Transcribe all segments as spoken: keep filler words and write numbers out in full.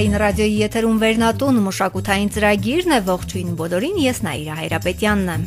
Հանրային ռադիոյի եթերում Վերնատուն մշակութային ծրագիրն է, ողջույն բոլորին, ես Նաիրա Հայրապետյանն եմ։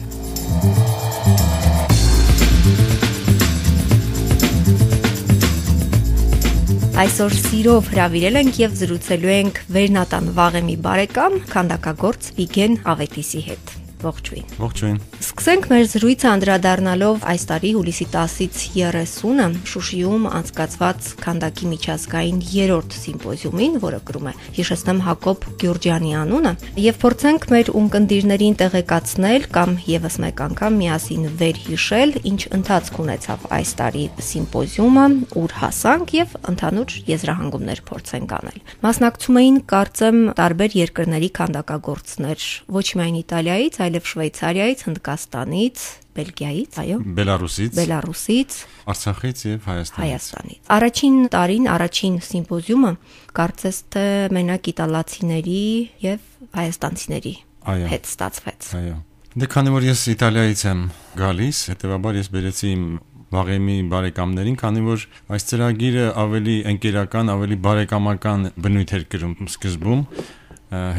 Այսօր սիրով հրավիրել ենք եւ զրուցելու ենք Վերնատան Վաղեմի բարեկամ, քանդակագործ Վիգեն Ավետիսի հետ։ Ողջույն։ Ողջույն։ Սկսենք մեր զրույցը անդրադառնալով այս տարի հուլիսի տասից երեսունը Շուշիում անցկացված քանդակի միջազգային երրորդ սիմպոզիումին, որը կրում է հիշեցնեմ Հակոբ Գյուրջյանի անունը, եւ փորձենք մեր ունկնդիրներին տեղեկացնել կամ եւս մեկ անգամ միասին վերհիշել, ինչ ընթացք ունեցավ այս տարի սիմպոզիումը, ուր հասանք եւ ընդհանուր եզրահանգումներ փորձենք անել։ Մասնակցում էին, կարծեմ, տարբեր երկրների քանդակագործներ, ոչ միայն Իտալիայից, այլև Շվեյցարիայից, Հնդկաստանից, Բելգիայից, այո, Բելարուսից, Բելարուսից, Արցախից եւ Հայաստանից։ Հայաստանից։ Առաջին տարին, առաջին սիմպոզիումը կարծես թե մենակ իտալացիների եւ հայաստանցիների հետ ստացվեց։ Այո։ Դե քանի որ ես Իտալիայից եմ գալիս, հետեւաբար ես բերեցի իմ Վաղեմի բարեկամներին, քանի որ այս ծրագիրը ավելի ընկերական, ավելի բարեկամական բնույթ էր կրում սկզբում,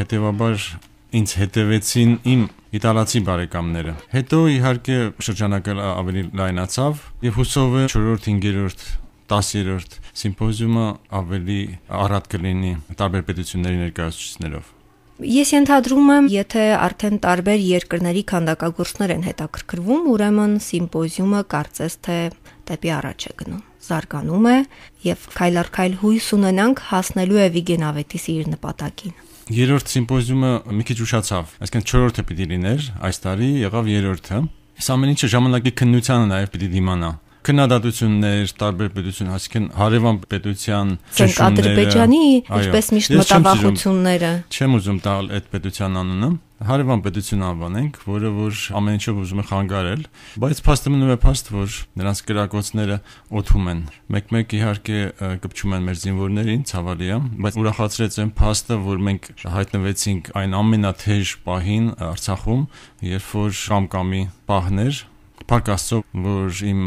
հետեւաբար ինձ հետևեցին իմ իտալացի բարեկամները։ Հետո իհարկե շրջանակը ավելի լայնացավ եւ հուսով է չորրորդ, հինգերորդ, տասերորդ սիմպոզիումը ավելի առատ կլինի տարբեր պետությունների ներկայացուցիչներով։ Ես ենթադրում եմ, եթե արդեն տարբեր երկրների քանդակագործներ են հետաքրքրվում, ուրեմն սիմպոզիումը կարծես թե դեպի առաջ է գնում, զարգանում է եւ քայլ առ քայլ հույս ունենանք հասնելու է Վիգեն Ավետիսի իր նպատակին։ Երրորդ սիմպոզիումը մի քիչ ուշացավ, այսինքն չորրորդը պիտի լիներ, այս տարի եղավ երրորդը։ Այս ամեն ինչը ժամանակի քննությանը նաև պիտի դիմանա։ Քննադատություններ, տարբեր պետություն, այսինքն հարևան պետության ճնշումները, Ադրբեջանի, ինչպես միշտ մտավախությունները։ Չեմ ուզում տալ այդ պետության անունը, հարևան պետություն անվանենք, որը որ ամեն ինչով ուզում է խանգարել, բայց փաստը մնում է փաստ, որ նրանց կրակոցները օթում են։ Մեկ-մեկ իհարկե կպչում են մեր զինվորներին, ցավալի է, բայց ուրախացրեց այն փաստը, որ մենք հայտնվեցինք այն ամենաթեժ պահին Արցախում, երբ որ կամկամի պահներ Փառք Աստծո, որ իմ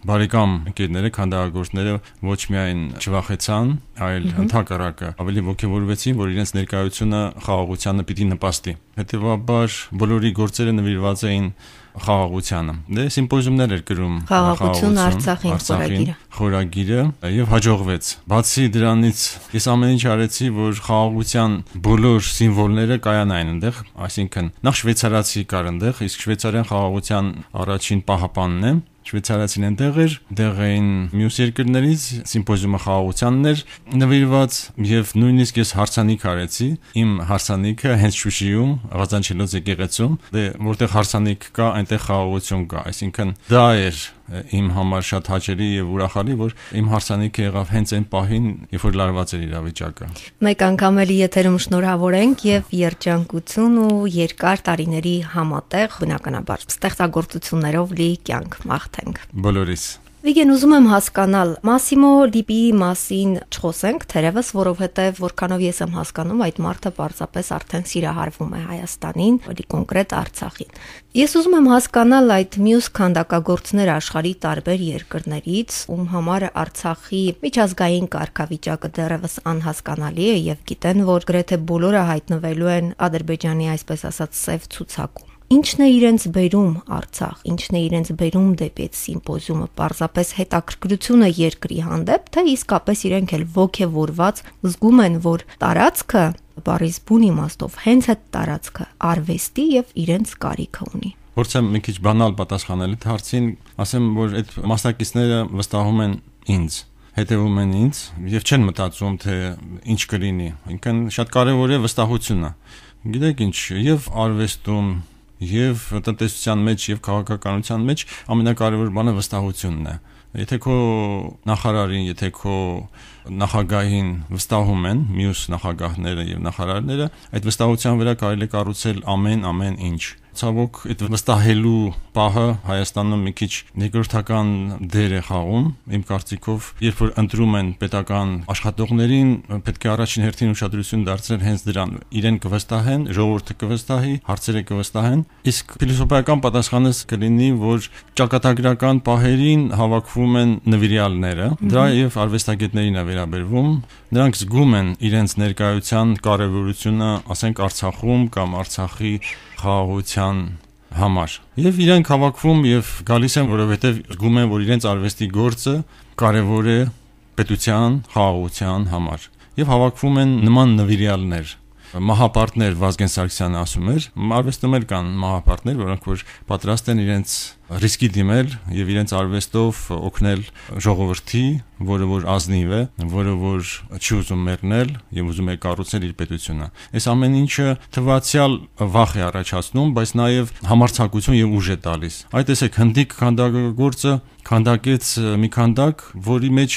բարեկամ ընկերները, քանդակագործները ոչ միայն չվախեցան, այլ ընդհակառակը ավելի ոգևորվեցին, որ իրենց ներկայությունը խաղաղությանը պիտի նպաստի։ Հետևաբար բոլորի գործերը նվիրված էին խաղաղությանը։ Դե սիմպոզիումներ էր գրում Խաղաղություն Արցախին խորագիրը։ Խորագիրը եւ հաջողվեց։ Բացի դրանից ես ամեն ինչ արեցի, որ խաղաղության բոլոր սիմվոլները կայանային այնտեղ, այսինքն նախ շվեյցարացի կար այնտեղ, իսկ շվեյցարյան խաղաղության առաջին պահապանն է։ Շվեյցարացին այնտեղ էր, դեղ էին մյուս երկրներից, սիմպոզիումը խաղաղությանն էր նվիրված եւ նույնիսկ ես հարցանիք արեցի, իմ հարցանիքը հենց Շուշիում, Ղազանչելոց եկեղեցում, դե որտեղ հարցանիք կա, այնտեղ խաղաղություն կա, այսինքն դա էր իմ համար շատ հաճելի եւ ուրախալի, որ իմ հարցանիքը եղավ հենց այն պահին, երբ որ լարված էր իրավիճակը։ Մեկ անգամ էլի եթերում շնորհավորենք եւ երջանկություն ու երկար տարիների համատեղ բնականաբար ստեղծագործություններով լի կյանք մաղթենք։ Բոլորիս։ Վիգեն, ուզում եմ հասկանալ, Մասիմո Լիպիի մասին չխոսենք, թերևս, որովհետև որքանով ես եմ հասկանում, այդ մարդը պարզապես արդեն սիրահարվում է Հայաստանին, ավելի կոնկրետ Արցախին։ Ես ուզում եմ հասկանալ այդ մյուս քանդակագործներ աշխարհի տարբեր երկրներից, ում համար Արցախի միջազգային կարգավիճակը դեռևս անհասկանալի է եւ գիտեն, որ գրեթե բոլորը հայտնվելու են Ադրբեջանի, այսպես ասած, սև ցուցակում։ Ինչն է իրենց բերում Արցախ, ինչն է իրենց բերում դեպի այդ սիմպոզիումը, պարզապես հետաքրքրությունը երկրի հանդեպ, թե իսկապես իրենք էլ ոգևորված զգում են, որ տարածքը, բառից բուն իմաստով, հենց այդ տարածքը արվեստի եւ իրենց կարիքը ունի։ Փորձեմ մի քիչ բանալ պատասխանել այդ հարցին, ասեմ, որ այդ մասնակիցները վստահում են ինձ, հետևում են ինձ եւ չեն մտածում, թե ինչ կլինի։ Ինքն շատ կարեւոր է վստահությունը։ Գիտեք ինչ, եւ արվեստում եւ տնտեսության մեջ եւ քաղաքականության մեջ ամենակարևոր բանը վստահությունն է։ Եթե քո նախարարին, եթե քո նախագահին վստահում են մյուս նախագահները եւ նախարարները, այդ վստահության վրա կարելի է կառուցել ամեն ամեն ինչ։ Ցավոք այդ վստահելու պահը Հայաստանում մի քիչ երկրորդական դեր է խաղում, իմ կարծիքով, երբ որ ընտրում են պետական աշխատողներին, պետք է առաջին հերթին ուշադրություն դարձնել հենց դրան, իրեն կվստահեն, ժողովուրդը կվստահի, հարցերը կվստահեն, իսկ փիլիսոփայական պատասխանը կլինի, որ ճակատագրական պահերին հավաքվում են նվիրյալները, դա եւ արվեստագետներին է վերաբերվում, նրանք զգում են իրենց ներկայության կարեւորությունը, ասենք Արցախում կամ Արցախի խաղաղության համար։ Եվ իրենք հավաքվում եւ գալիս են, որովհետեւ զգում են, որ իրենց արվեստի գործը կարեւոր է պետության խաղաղության համար։ Եվ հավաքվում են նման նվիրյալներ։ Մահապարտներ Վազգեն Սարգսյանը ասում էր, արվեստում էլ կան մահապարտներ, որոնք որ պատրաստ են իրենց ռիսկի դիմել եւ իրենց արվեստով օգնել ժողովրդի, որը որ ազնիվ է, որը որ չի ուզում մեռնել եւ ուզում է կառուցել իր պետությունը։ Այս ամեն ինչը թվացial վախ է առաջացնում, բայց նաեւ համարձակություն եւ ուժ է տալիս։ Այդ տեսեք, հնդիկ քանդակագործը քանդակեց մի քանդակ, որի մեջ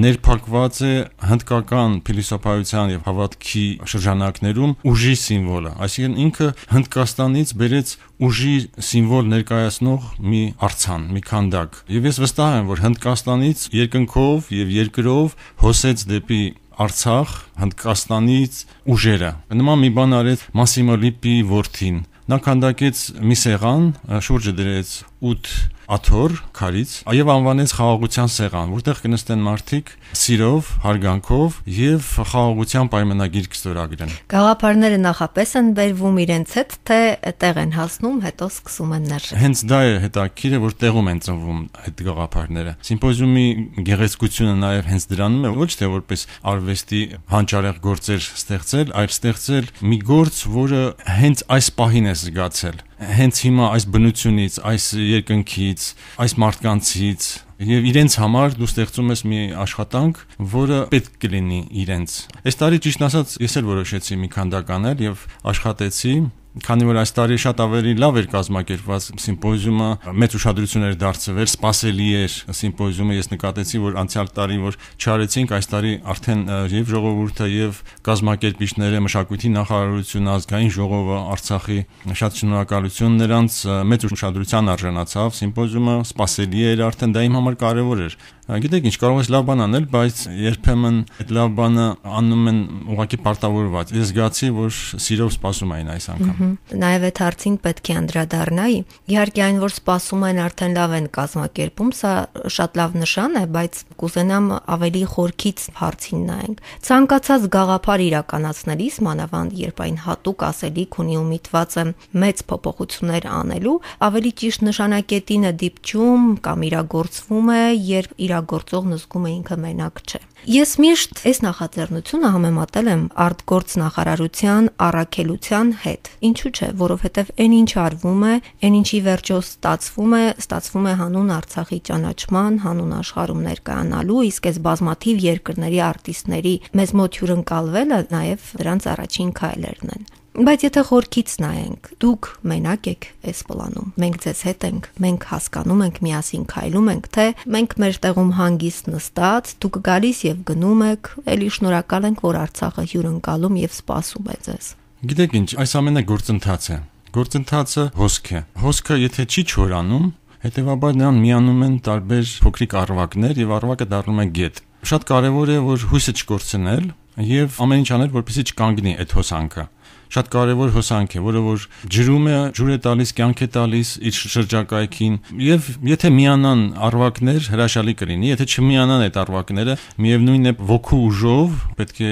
ներփակված է հնդկական փիլիսոփայության եւ հավատքի շրջանակներում ուժի սիմվոլը, այսինքն ինքը Հնդկաստանից բերեց ուժի սիմվոլ ներկայացնող մի արձան, մի քանդակ։ Եվ ես վստահ եմ, որ Հնդկաստանից երկնքով եւ երկրով հոսեց դեպի Արցախ Հնդկաստանից ուժերը։ Նման մի բան արեց Մասիմո Լիպիի որդին։ Նա քանդակեց մի սեղան, շուրջը դրեց ութ աթոռ քարից եւ անվանեց խաղաղության սեղան, որտեղ կնստեն մարդիկ սիրով, հարգանքով եւ խաղաղության պայմանագիր կստորագրեն։ Գաղափարները նախապես են բերվում իրենց հետ, թե տեղ են հասնում, հետո սկսում են ներշել։ Հենց դա է հետաքրքիրը, որ տեղում են ծնվում այդ գաղափարները։ Սիմպոզիումի գեղեցկությունը նաեւ հենց դրանում է, ոչ թե որպես արվեստի հանճարեղ գործեր ստեղծել, այլ ստեղծել մի գործ, որը հենց այս պահին է զգացել։ Հենց հիմա այս բնությունից, այս երկնքից, այս մարդկանցից եւ իրենց համար դու ստեղծում ես մի աշխատանք, որը պետք կլինի իրենց։ Այս տարի ճիշտ ասած ես էլ որոշեցի մի քանդակ անել եւ աշխատեցի, քանի որ այս տարի շատ ավելի լավ էր կազմակերպված սիմպոզիումը, մեծ ուշադրություն էր դարձվել, սպասելի էր սիմպոզիումը, ես նկատեցի, որ անցյալ տարի որ չարեցինք, այս տարի արդեն եւ ժողովուրդը եւ կազմակերպիչները, մշակույթի նախարարությունը, ազգային ժողովը, Արցախի շատ շնորհակալություն նրանց, մեծ ուշադրության արժանացավ սիմպոզիումը, սպասելի էր արդեն, դա իմ համար կարեւոր էր։ Գիտեք ինչ, կարող ես լավ բան անել, բայց երբեմն այդ լավ բանը անում են ուղղակի պարտավորված։ Ես զգացի, որ սիրով սպասում էին այս անգամ։ Նաև այդ հարցին պետք է անդրադառնայի։ Իհարկե այն, որ սպասում են, արդեն լավ են կազմակերպում, սա շատ լավ նշան է, բայց կուզենամ ավելի խորքից հարցին նայենք։ Ցանկացած գաղափար իրականացնելիս, մանավանդ երբ այն հատուկ ասելիք ունի ու միտված է մեծ փոփոխություններ անելու, ավելի ճիշտ նշանակետին է դիպչում կամ իրագործվում է, երբ իրագործողն զգում է ինքը մենակ չէ։ Ես միշտ այս նախաձեռնությունը համեմատել եմ արտգործ նախարարության առաքելության հետ։ Ինչու՞ չէ, որովհետև այն ինչ արվում է, այն ինչի վերջո ստացվում է, ստացվում է հանուն Արցախի ճանաչման, հանուն աշխարհում ներկայանալու, իսկ այս բազմաթիվ երկրների արտիստների մեզ մոտ հյուրընկալվելը նաև դրանց առաջին քայլերն են։ Բայց եթե խորքից նայենք, դուք մենակ եք այս պլանում, մենք ձեզ հետ ենք, մենք հասկանում ենք, միասին քայլում ենք, թե մենք մեր տեղում հանգիստ նստած, դուք գալիս եւ գնում եք, էլի շնորհակալ ենք, որ Արցախը հյուրընկալում եւ սպասում է ձեզ։ Գիտեք ինչ, այս ամենը գործընթաց է։ Գործընթացը հոսք է։ Հոսքը եթե չի չորանում, հետեւաբար նրան միանում են տարբեր փոքրիկ առվակներ եւ առվակը դառնում է գետ։ Շատ կարեւոր է, որ հույսը չկորցնել եւ ամեն ինչ անել, որպեսզի չկանգնի այդ հոսանքը։ Շատ կարևոր հոսանք է, որը որ ջրում է, ջուր է տալիս, կյանք է տալիս իր շրջակայքին, եւ եթե միանան առվակներ, հրաշալի կլինի, եթե չմիանան այդ առվակները, միևնույն է ոգու ուժով պետք է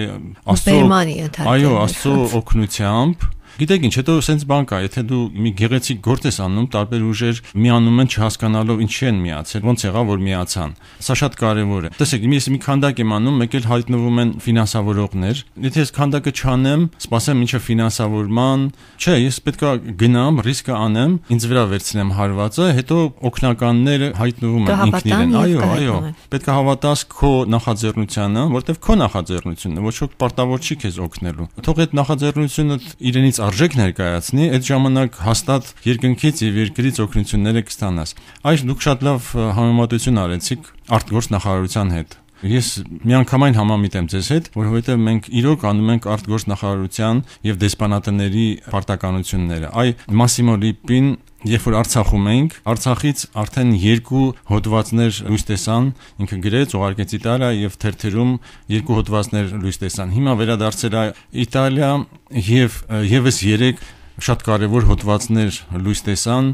Աստծո, այո, Աստծո օգնությամբ Գիտեք ինչ, հետո սենց բան կա, եթե դու մի գեղեցիկ գործ ես անում, տարբեր ուժեր միանում են չհասկանալով ինչի են միացել, ոնց եղավ որ միացան։ Սա շատ կարևոր է։ Տեսեք, ես մի քանդակ եմ անում, մեկ էլ հայտնվում են ֆինանսավորողներ։ Եթե ես քանդակը չանեմ, սպասեմ ինչը ֆինանսավորման, չէ, ես պետքա գնամ, ռիսկը անեմ, ինձ վրա վերցնեմ հարվածը, հետո օգնականները հայտնվում են ինքնին։ Այո, այո։ Պետքա հավատաս քո նախաձեռնությանը, որտեվ քո նախաձեռնությունն է, ոչ ոք պարտավոր չի քեզ օգնելու։ Թող այդ նախաձեռնությունը իրենից արժեք ներկայացնի, այդ ժամանակ հաստատ երկնքից եւ երկրից օգնությունները կստանաս։ Այս դուք շատ լավ համեմատություն արեցիք արտգործ նախարարության հետ։ Ես միանգամայն համամիտ եմ ձեզ հետ, որովհետև մենք իրոք անում ենք արտգործնախարարության եւ դեսպանատների պարտականությունները։ Այ Մասիմո Լիպին Երբ որ Արցախում էինք, Արցախից արդեն երկու հոդվածներ լույս տեսան, ինքը գրեց, ուղարկեց Իտալիա եւ թերթերում երկու հոդվածներ լույս տեսան։ Հիմա վերադարձել է Իտալիա եւ եւս երեք շատ կարեւոր հոդվածներ լույս տեսան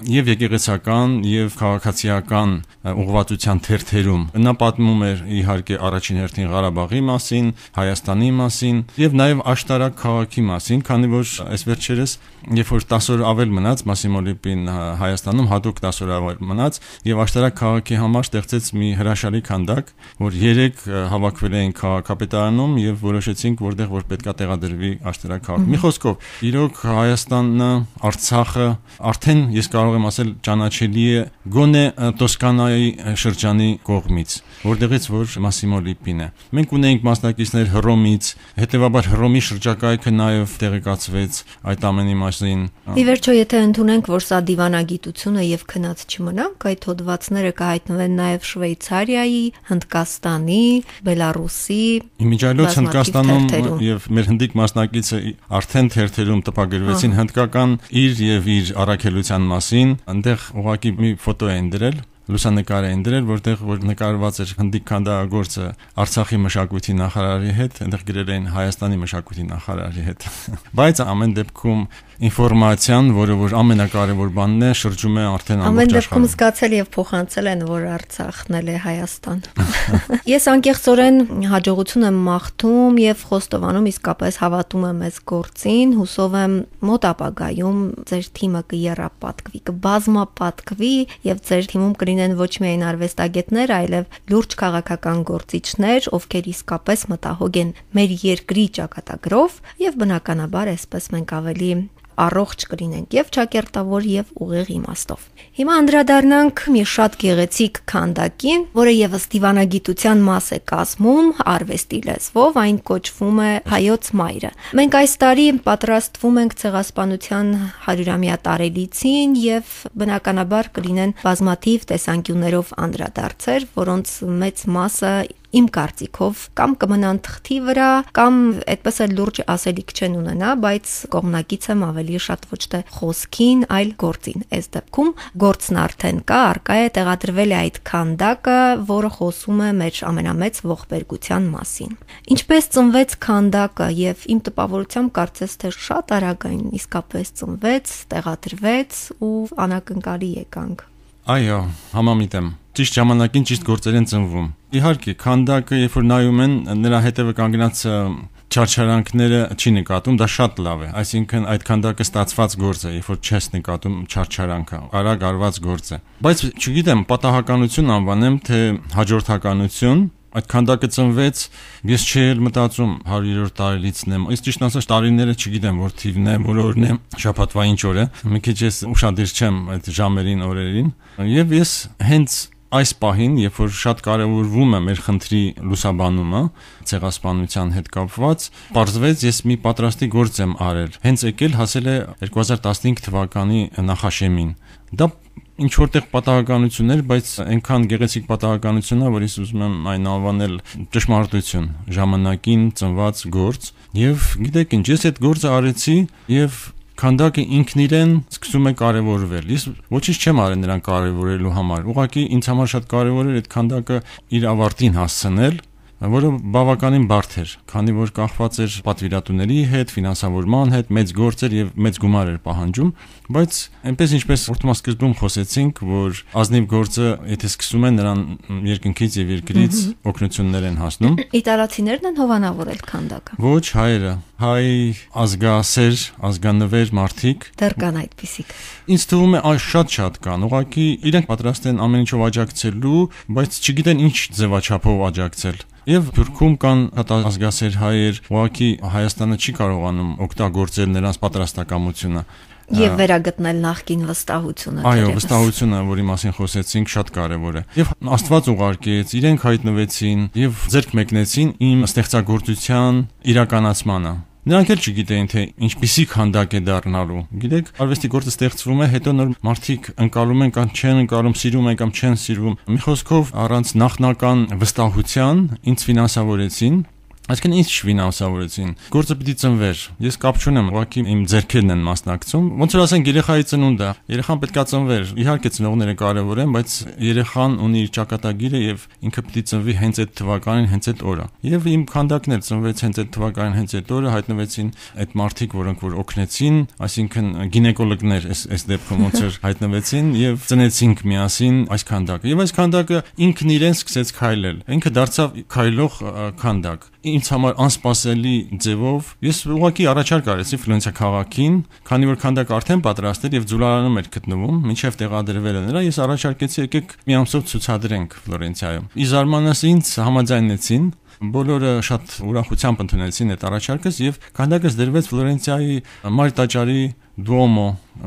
եւ եկեղեցական եւ քաղաքացիական ուղղվածության թերթերում։ Նա պատմում էր իհարկե առաջին հերթին Ղարաբաղի մասին, Հայաստանի մասին եւ նաեւ աշտարակ քաղաքի մասին, քանի որ այս վերջերս երբ որ տասը օր ավել մնաց Մասիմո Լիպին Հայաստանում հատուկ տասը օր ավել մնաց եւ աշտարակ քաղաքի համար ստեղծեց մի հրաշալի քանդակ, որ երեք հավաքվել էին քաղաքապետարանում եւ որոշեցինք որտեղ որ պետքա տեղադրվի աշտարակ քաղաք։ Մի խոսքով, իրոք Հայաստանը, Արցախը արդեն ես կարող եմ ասել ճանաչելի է գոնե Տոսկանայի շրջանի կողմից, որտեղից որ Մասիմո Լիպին է։ Մենք ունեինք մասնակիցներ Հռոմից, հետեւաբար Հռոմի շրջակայքը նաև տեղեկացվեց այդ ամենի մասին։ Ի վերջո, եթե ընդունենք, որ սա դիվանագիտություն է եւ քնած չմնանք, այդ հոդվածները կհայտնվեն նաև Շվեյցարիայի, Հնդկաստանի, Բելարուսի, Իմիջիայլոց Հնդկաստանում եւ մեր հնդիկ մասնակիցը արդեն թերթերում տպագրվեցին հնդկական իր եւ իր առաքելության մասին, այնտեղ ուղղակի մի ֆոտո են դրել, լուսանկար են դրել, որտեղ որ նկարված էր հնդիկ քանդակագործը Արցախի մշակույթի նախարարի հետ, այնտեղ գրել են Հայաստանի մշակույթի նախարարի հետ։ Բայց ամեն դեպքում ինֆորմացիան, որը որ ամենակարևոր բանն է, շրջում է արդեն ամբողջ աշխարհում։ Ամեն դեպքում զգացել եւ փոխանցել են, որ Արցախն էլ է Հայաստան։ Ես անկեղծորեն հաջողություն եմ մաղթում եւ խոստովանում, իսկապես հավատում եմ այս գործին, հուսով եմ մոտ ապագայում ձեր թիմը կերապատկվի, կբազմապատկվի եւ ձեր թիմում կլինեն ոչ միայն արվեստագետներ, այլև լուրջ քաղաքական գործիչներ, ովքեր իսկապես մտահոգ են մեր երկրի ճակատագրով եւ բնականաբար այսպես մենք ավելի առողջ կլինենք եւ ճակերտավոր եւ ուղիղ իմաստով։ Հիմա անդրադառնանք մի շատ գեղեցիկ քանդակին, որը եւս դիվանագիտության մաս է կազմում արվեստի լեզվով, այն կոչվում է Հայոց մայրը։ Մենք այս տարի պատրաստվում ենք ցեղասպանության հարյուրամյա տարելիցին եւ բնականաբար կլինեն բազմաթիվ տեսանկյուններով անդրադարձեր, որոնց մեծ մասը իմ կարծիքով կամ կմնան թղթի վրա, կամ այդպես էլ լուրջ ասելիք չեն ունենա, բայց կողմնակից եմ ավելի շատ ոչ թե խոսքին, այլ գործին։ Այս դեպքում գործն արդեն կա, արկա է, տեղադրվել է այդ քանդակը, որը խոսում է մեր ամենամեծ ողբերգության մասին։ Ինչպես ծնվեց քանդակը եւ իմ տպավորությամբ կարծես թե շատ արագ այն իսկապես ծնվեց, տեղադրվեց ու անակնկալի եկանք։ Այո, համամիտ եմ։ Ճիշտ ժամանակին ճիշտ գործեր են ծնվում։ Իհարկե, քանդակը, երբ որ նայում են, նրա հետևը կանգնած չարչարանքները չի նկատում, դա շատ լավ է։ Այսինքն այդ քանդակը ստացված գործ է, երբ որ չես նկատում չարչարանքը, արագ արված գործ է։ Բայց չգիտեմ, պատահականություն անվանեմ, թե հաջորդականություն, այդ քանդակը ծնվեց, ես չէի մտածում հարյուրորդ տարելիցն եմ։ Ես ճիշտ ասած տարիները չգիտեմ, որ թիվն է, որ օրն է, շաբաթվա ինչ օր է։ Մի քիչ ես ուշադիր չեմ այդ ժամերին, օրերին, եւ ես հենց այս պահին, երբ որ շատ կարևորվում է մեր խնդրի լուսաբանումը, ցեղասպանության հետ կապված, պարզվեց ես մի պատրաստի գործ եմ արել։ Հենց եկել հասել է երկու հազար տասնհինգ թվականի նախաշեմին։ Դա ինչ որտեղ պատահականություններ, բայց այնքան գեղեցիկ պատահականություն է, որ ես ուզում եմ այն անվանել ճշմարտություն, ժամանակին ծնված գործ։ Եվ գիտեք ինչ, ես այդ գործը արեցի եւ քանդակը ինքն իրեն սկսում է կարևորվել։ Ես ոչինչ չեմ արել նրան կարևորելու համար։ Ուղղակի ինձ համար շատ կարևոր էր այդ քանդակը իր ավարտին հասցնել, որը բավականին բարդ էր, քանի որ կախված էր պատվիրատուների հետ, ֆինանսավորման հետ, մեծ գործեր եւ մեծ գումար էր պահանջում, բայց այնպես ինչպես որդմասկզբում խոսեցինք, որ ազնիվ գործը, եթե սկսում են, նրան երկնքից եւ երկրից օգնություններ են հասնում։ Իտալացիներն են հովանավորել քանդակը։ Ոչ, հայերը, հայ ազգասեր, ազգանվեր մարդիկ։ Դեռ կան այդպիսիք։ Ինձ թվում է այս շատ-շատ կան։ Ուղղակի իրենք պատրաստ են ամեն ինչով աջակցելու, բայց չգիտեն ինչ ձևաչափով աջակցել։ Եվ Թուրքում կան ազգասեր հայեր, ուղղակի Հայաստանը չի կարողանում օգտագործել նրանց պատրաստակամությունը եւ վերագտնել նախկին վստահությունը։ Այո, վստահությունը, որի մասին խոսեցինք, շատ կարեւոր է։ Եվ Աստված ուղարկեց, իրենք հայտնվեցին եւ ձեռք մեկնեցին իմ ստեղծագործության իրականացմանը։ Նրանք էլ չգիտեին, թե ինչպիսի քանդակ է դառնալու։ Գիտեք, արվեստի գործը ստեղծվում է, հետո նոր մարդիկ ընկալում են կամ չեն ընկալում, սիրում են կամ չեն սիրում։ Մի խոսքով, առանց նախնական վստահության ինձ ֆինանսավորեցին։ Այսինքն ինձ չֆինանսավորեցին։ Գործը պիտի ծնվեր։ Ես կապ չունեմ, ուղղակի իմ ձեռքերն են մասնակցում։ Ոնց որ ասենք երեխայի ծնունդը, երեխան պետքա ծնվեր։ Իհարկե ծնողները կարևոր են, բայց երեխան ունի իր ճակատագիրը եւ ինքը պիտի ծնվի հենց այդ թվականին, հենց այդ օրը։ Եվ իմ քանդակն էլ ծնվեց հենց այդ թվականին, հենց այդ օրը հայտնվեցին այդ մարդիկ, որոնք որ օգնեցին, այսինքն գինեկոլոգներ այս այս դեպքում ոնց որ հայտնվեցին եւ ծնեցինք միասին այս քանդակը։ Եվ այս քանդակը ինքն իրեն սկսեց քայլել։ Ինքը դարձավ քայլող քանդակ։ Ինձ համար անսպասելի ձևով ես ուղղակի առաջարկ արեցի Ֆլորենցիա քաղաքին, քանի որ քանդակը արդեն պատրաստ էր եւ Ձուլարանում էր գտնվում, մինչեւ տեղադրվելը նրա, ես առաջարկեցի եկեք մի ամսով ցուցադրենք Ֆլորենցիայում։ Ի զարմանս ինձ համաձայնեցին, բոլորը շատ ուրախությամբ ընդունեցին այդ առաջարկս եւ քանդակը դրվեց Ֆլորենցիայի Մար տաճարի Դուոմո,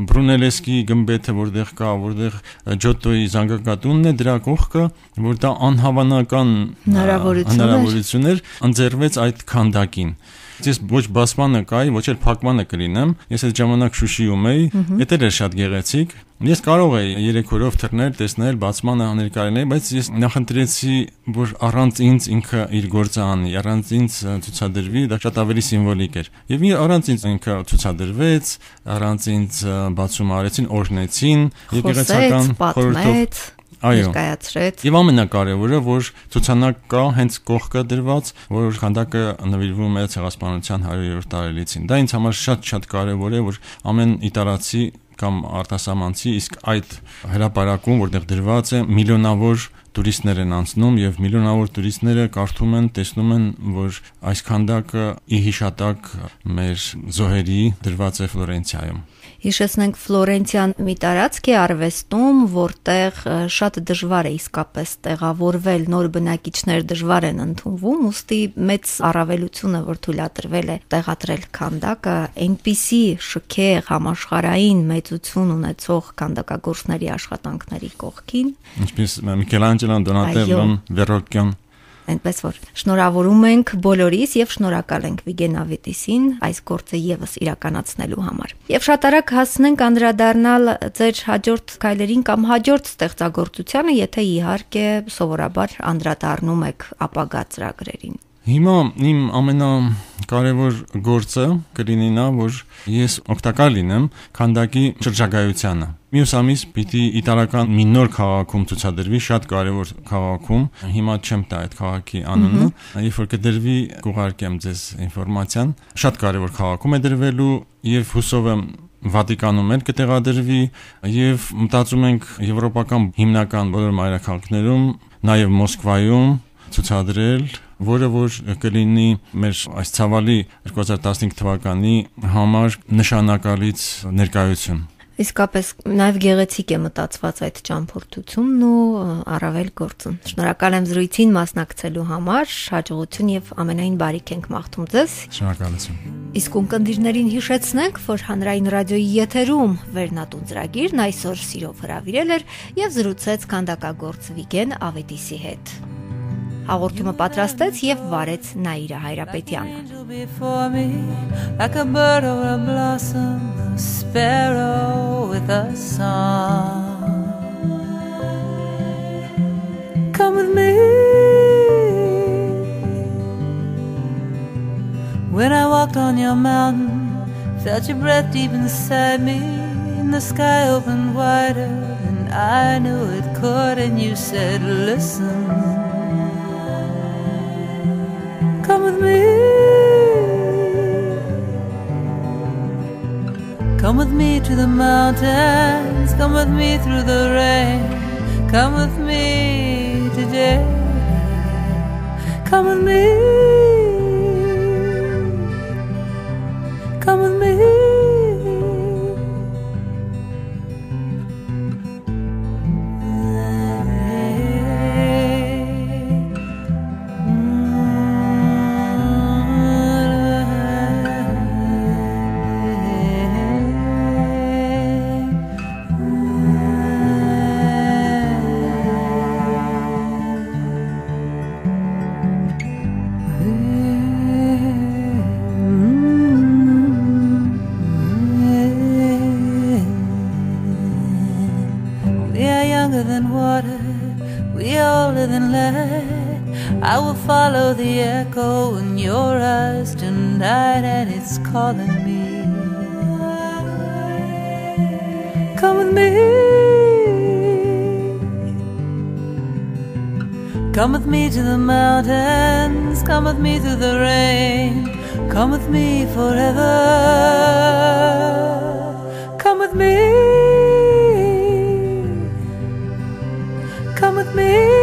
Բրունելեսկի գմբեթը, որտեղ կա, որտեղ Ջոտոյի զանգակատունն է, դրա կողքը, որ դա անհավանական հնարավորություն էր, ընձեռվեց այդ քանդակին։ Ես ոչ բացմանը կայի, ոչ էլ փակմանը կլինեմ։ Ես այդ ժամանակ Շուշիում էի, դա էր շատ գեղեցիկ։ Ես կարող էի երեք օրով թռնել, տեսնել, բացմանը ներկայացնել, բայց ես նախընտրեցի, որ առանց ինձ ինքը իր գործը անի, առանց ինձ ցուցադրվի, դա շատ ավելի սիմվոլիկ էր։ Եվ առանց ինձ ինքը ցուցադրվեց, առանց ինձ բացում արեցին, օրհնեցին, եկեղեցական խորհրդով ներկայացրեց։ Եվ ամենակարևորը, որ ցուցանակ կա հենց կողքը դրված, որ քանդակը նվիրվում է ցեղասպանության հարյուրերորդ տարելիցին։ Դա ինձ համար շատ-շատ կարևոր է, որ ամեն իտալացի կամ արտասահմանցի իսկ այդ հրապարակում, որտեղ դրված է, միլիոնավոր տուրիստներ են անցնում եւ միլիոնավոր տուրիստները կարդում են, տեսնում են, որ այս քանդակը ի հիշատակ մեր զոհերի դրված է Ֆլորենցիայում։ Հիշեցնենք Ֆլորենցիան մի տարածք է արվեստում, որտեղ շատ դժվար է իսկապես տեղավորվել, նոր բնակիչներ դժվար են ընդունվում, ուստի մեծ առավելություն է, որ թույլատրվել է տեղադրել քանդակը, այնպիսի շքեղ համաշխարհային մեծություն ունեցող քանդակագործների աշխատանքների կողքին, ինչպես Միքելանջելոն, Դոնատելլոն, Վերոկկյոն։ Այնպես որ շնորհավորում ենք բոլորիս եւ շնորհակալ ենք Վիգեն Ավետիսին այս գործը եւս իրականացնելու համար։ Եվ շատ արագ հասնենք անդրադառնալ ձեր հաջորդ քայլերին կամ հաջորդ ստեղծագործությանը, եթե իհարկե սովորաբար անդրադառնում եք ապագա ծրագրերին։ Հիմա իմ ամենակարևոր գործը կլինի նա, որ ես օգտակար լինեմ քանդակի շրջագայությանը։ Մյուս ամիս պիտի իտալական մի նոր քաղաքում ցուցադրվի, շատ կարևոր քաղաքում, հիմա չեմ տա այդ քաղաքի անունը, երբ որ կդրվի կուղարկեմ ձեզ ինֆորմացիան, շատ կարևոր քաղաքում է դրվելու եւ հուսով եմ Վատիկանում էլ կտեղադրվի եւ մտածում ենք եվրոպական հիմնական բոլոր մայրաքաղաքներում, նաեւ Մոսկվայում ցուցադրել, որը որ կլինի մեր այս ցավալի երկու հազար տասնհինգ թվականի համար նշանակալից ներկայություն։ Իսկապես նաև գեղեցիկ է մտածված այդ ճամփորդությունն ու առավել գործն։ Շնորհակալ եմ զրույցին մասնակցելու համար, հաջողություն եւ ամենայն բարիք ենք մաղթում ձեզ։ Շնորհակալություն։ Իսկ ունկնդիրներին հիշեցնենք, որ Հանրային ռադիոյի եթերում Վերնատուն ծրագիրն այսօր սիրով հրավիրել էր եւ զրուցեց քանդակագործ Վիգեն Ավետիսի հետ։ Հաղորդումը պատրաստեց եւ վարեց Նաիրա Հայրապետյանը։ Like a bird or a blossom, a sparrow with a song. Come with me. When I walked on your mountain, felt your breath deep inside me, and the sky opened wider, and I knew it could, and you said, listen. Come with me. Come with me to the mountains. Come with me through the rain. Come with me today. Come with me. Come with me. Mm-hmm. younger than water, we older than lead. I will follow the echo in your eyes tonight, and it's calling me. Come with me. Come with me to the mountains. Come with me through the rain. Come with me forever. Come with me. Come with me.